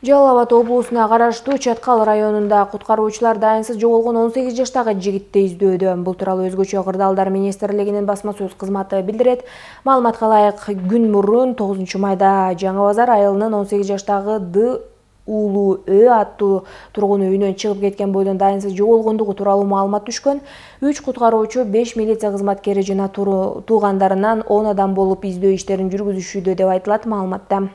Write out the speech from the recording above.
Жалал Абад облусуна караштуу Чаткал районунда куткаруучулар дайынсыз жоголгон 18 жаштагы жигитти издөөдө. Бул тууралуу Өзгөчө кырдаалдар министрлигинин басма сөз кызматы билдирет. Маалыматка ылайык, күн мурун 9 майда Жаңы Базар айылынын 18 жаштагы Д. Уулу Ö аттуу тургун үйүнөн чыгып кеткен бойдон дайынсыз жоголгондугу тууралуу маалымат түшкөн. 3 куткаруучу, 5 милиция кызматкери жана туугандарынан 10 адам болуп издөө иштерин жүргүзүшүүдө деп айтылат маалыматта.